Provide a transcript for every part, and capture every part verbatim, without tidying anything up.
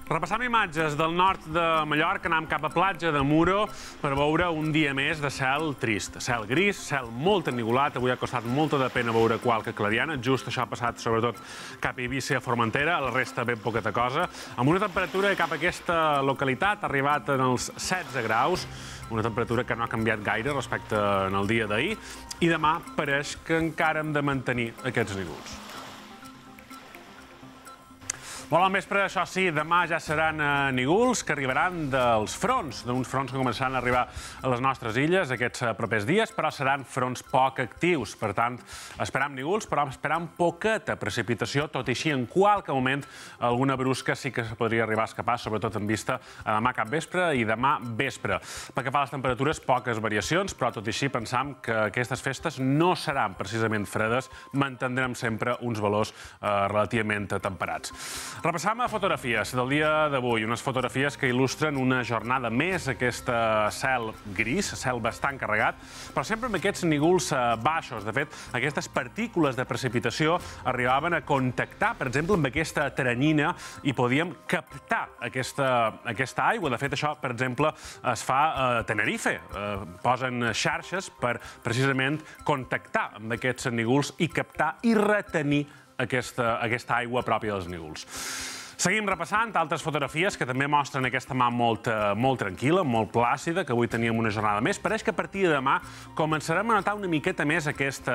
Repassam imatges del nord de Mallorca, anem cap a platja de Muro per veure un dia més de cel trist. Cel gris, cel molt ennigolat, avui ha costat molta de pena veure qualque clariana, just això ha passat sobretot cap a Eivissa i a Formentera, la resta ben poqueta cosa, amb una temperatura cap a aquesta localitat ha arribat en els setze graus, una temperatura que no ha canviat gaire respecte al dia d'ahir, i demà pareix que encara hem de mantenir aquests nívols. Molt bon vespre, això sí, demà ja seran nívols que arribaran dels fronts, d'uns fronts que començaran a arribar a les nostres illes aquests propers dies, però seran fronts poc actius. Per tant, esperam nívols, però esperam poqueta precipitació, tot i així, en qualque moment, alguna brusca sí que podria arribar a escapar, sobretot en vista a demà cap vespre i demà vespre. Pel que fa a les temperatures, poques variacions, però tot i així pensam que aquestes festes no seran precisament fredes, mantindrem sempre uns valors relativament temperats. Repassam a fotografies del dia d'avui, unes fotografies que il·lustren una jornada més, aquest cel gris, cel bastant carregat, però sempre amb aquests nívols baixos. De fet, aquestes partícules de precipitació arribaven a contactar, per exemple, amb aquesta teranyina i podíem captar aquesta aigua. De fet, això, per exemple, es fa a Tenerife. Posen xarxes per precisament contactar amb aquests nívols i captar i retenir aquesta aigua pròpia dels nívols. Seguim repassant altres fotografies que també mostren aquesta mà molt tranquil·la, molt plàcida, que avui teníem una jornada més. Pareix que a partir de demà començarem a notar una miqueta més aquest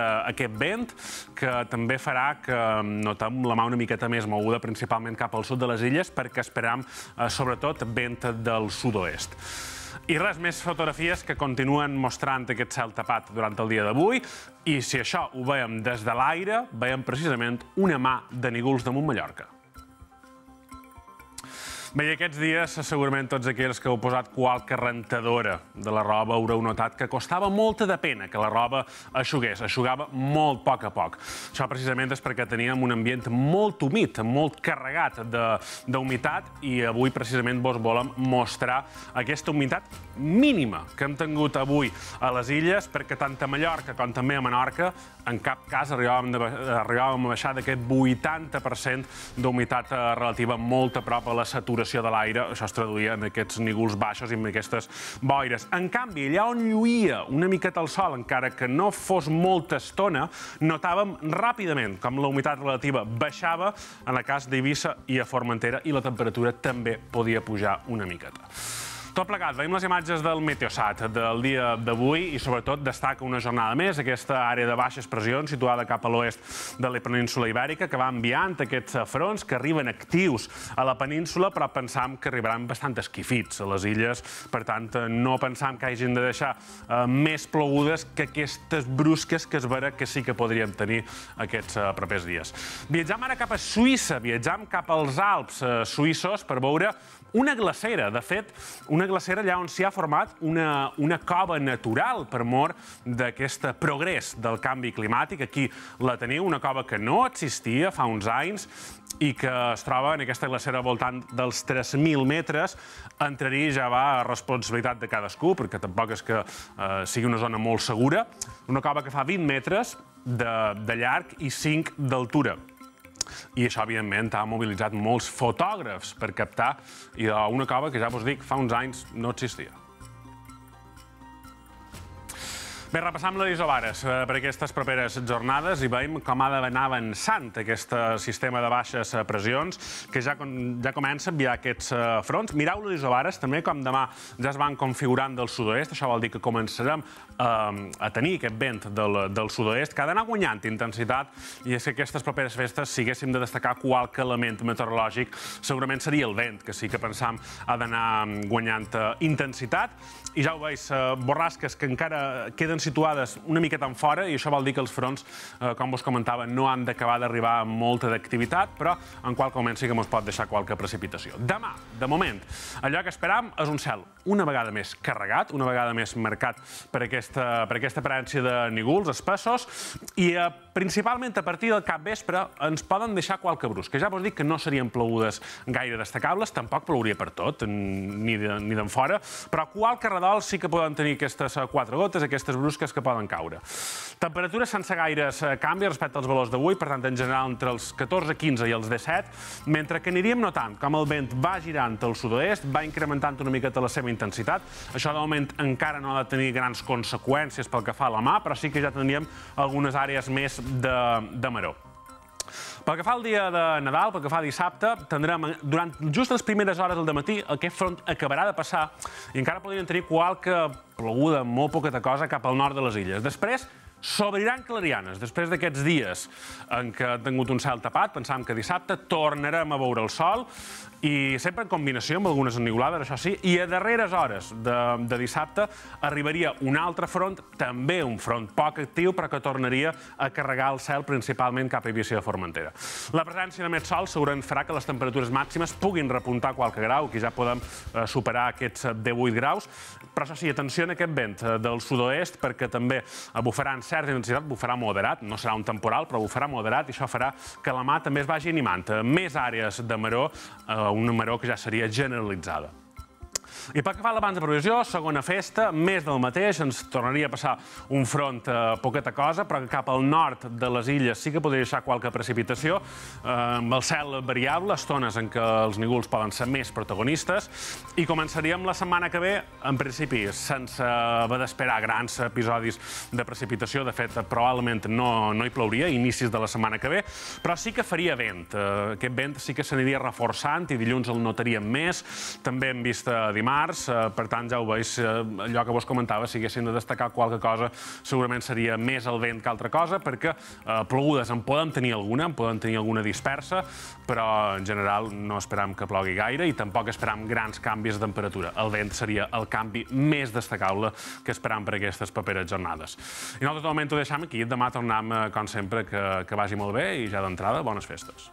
vent, que també farà que notem la mà una miqueta més moguda, principalment cap al sud de les illes, perquè esperam, sobretot, vent del sud-oest. I res més fotografies que continuen mostrant aquest cel tapat durant el dia d'avui, i si això ho veiem des de l'aire, veiem precisament una mà de nívols damunt Mallorca. Bé, i aquests dies, segurament tots aquells que heu posat qualque rentadora de la roba haureu notat que costava molta de pena que la roba eixugués, eixugava molt a poc a poc. Això precisament és perquè teníem un ambient molt humit, molt carregat d'humitat, i avui precisament vos volem mostrar aquesta humitat mínima que hem tingut avui a les illes, perquè tant a Mallorca com també a Menorca en cap cas arribàvem a baixar d'aquest vuitanta per cent d'humitat relativa molt a prop a la saturació de l'aire. Això es traduïa en aquests nívols baixos i en aquestes boires. En canvi, allà on lluïa una miqueta el sol, encara que no fos molta estona, notàvem ràpidament com la humitat relativa baixava en el cas d'Eivissa i a Formentera, i la temperatura també podia pujar una miqueta. Tot plegat, veiem les imatges del Meteosat del dia d'avui i sobretot destaca una jornada més aquesta àrea de baixes pressions situada cap a l'oest de la península Ibèrica, que va enviant aquests fronts que arriben actius a la península, però pensam que arribaran bastant esquifits a les illes. Per tant, no pensam que hagin de deixar més plogudes que aquestes brusques que es veurà que sí que podríem tenir aquests propers dies. Viatjam ara cap a Suïssa, viatjam cap als Alps suïssos per veure una glacera. De fet, una glacera allà on s'hi ha format una cova natural per mor d'aquest progrés del canvi climàtic. Aquí la teniu, una cova que no existia fa uns anys i que es troba en aquesta glacera al voltant dels tres mil metres. Entrar-hi ja va a responsabilitat de cadascú, perquè tampoc és que sigui una zona molt segura. Una cova que fa vint metres de llarg i cinc d'altura. I això, evidentment, ha mobilitzat molts fotògrafs per captar una cova que, ja vos dic, fa uns anys no existia. Bé, repassam les isobares per aquestes properes jornades i veiem com ha d'anar avançant aquest sistema de baixes pressions que ja comença a enviar aquests fronts. Mireu les isobares també com demà ja es van configurant del sud-oest. Això vol dir que començarem a tenir aquest vent del sud-oest que ha d'anar guanyant intensitat, i és que aquestes properes festes, si haguéssim de destacar qualque element meteorològic, segurament seria el vent, que sí que pensam ha d'anar guanyant intensitat. I ja ho veus, borrasques que encara queden situades una miqueta en fora, i això vol dir que els fronts, com vos comentava, no han d'acabar d'arribar amb molta d'activitat, però en qualque moment sí que ens pot deixar qualque precipitació. Demà, de moment, allò que esperam és un cel una vegada més carregat, una vegada més marcat per aquesta, per aquesta presència de nígols espessos i eh, principalment a partir del capvespre ens poden deixar qualque brus, que ja vos dic que no serien plogudes gaire destacables, tampoc plouria per tot, ni d'en fora, però qualque redol sí que poden tenir aquestes quatre gotes, aquestes brusques que poden caure. Temperatures sense gaires canvis respecte als valors d'avui, per tant, en general entre els catorze quinze i els disset, mentre que aniríem notant com el vent va girant al sud-oest, va incrementant una miqueta la seva intensitat. Això, de moment, encara no ha de tenir grans conseqüències pel que fa a la mà, però sí que ja tindríem algunes àrees més de, de maror. Pel que fa al dia de Nadal, pel que fa a dissabte, tindrem durant just les primeres hores del dematí aquest front acabarà de passar i encara podríem tenir qualque ploguda, molt poqueta cosa, cap al nord de les illes. Després, s'obriran clarianes. Després d'aquests dies en què ha tingut un cel tapat, pensàvem que dissabte tornarem a veure el sol i sempre en combinació amb algunes enniolades, això sí, i a darreres hores de, de dissabte arribaria un altre front, també un front poc actiu, però que tornaria a carregar el cel principalment cap a Eivissa de Formentera. La presència de més sol segurament farà que les temperatures màximes puguin repuntar qualque grau, que ja podem eh, superar aquests divuit graus, però això sí, atenció a aquest vent eh, del sud-oest, perquè també bufarà en certa intensitat, bufarà moderat, no serà un temporal, però bufarà moderat, i això farà que la mà també es vagi animant. Més àrees de maror, eh, una maror que ja seria generalitzada. I pel que fa a l'abans de previsió, segona festa, més del mateix, ens tornaria a passar un front eh, poqueta cosa, però que cap al nord de les illes sí que podria deixar qualque precipitació, eh, amb el cel variable, estones en què els nígols poden ser més protagonistes, i començaríem la setmana que ve, en principi, sense haver d'esperar grans episodis de precipitació. De fet, probablement no, no hi plouria, inicis de la setmana que ve, però sí que faria vent. Eh, aquest vent sí que s'aniria reforçant i dilluns el notaríem més, també hem vist eh, dimarts. Per tant, ja ho veus, allò que vos comentava, si haguéssim de destacar qualque cosa, segurament seria més el vent que altra cosa, perquè plogudes en podem tenir alguna, en podem tenir alguna dispersa, però en general no esperam que plogui gaire i tampoc esperam grans canvis de temperatura. El vent seria el canvi més destacable que esperam per aquestes properes jornades. I nosaltres de moment ho deixem aquí, demà tornem, com sempre, que, que vagi molt bé i ja d'entrada, bones festes.